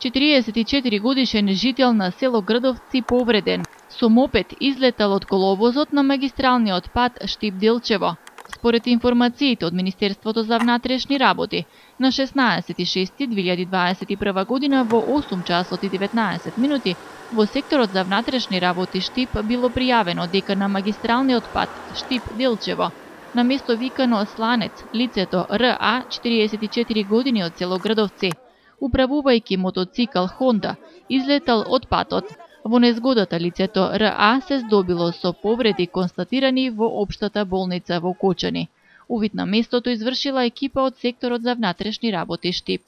44 годишен жител на село Градовци повреден. Со мопед излетал од коловозот на магистралниот пат Штип-Делчево. Според информациите од Министерството за внатрешни работи, на 16.6.2021 година во 8 часот и 19 минути во секторот за внатрешни работи Штип било пријавено дека на магистралниот пат Штип-Делчево на место викано Сланец лицето РА 44 години од село Градовци, управувајќи мотоцикл Хонда, излетал од патот. Во незгодата лицето РА се здобило со повреди констатирани во општата болница во Кочани. Увид на местото извршила екипа од секторот за внатрешни работи Штип.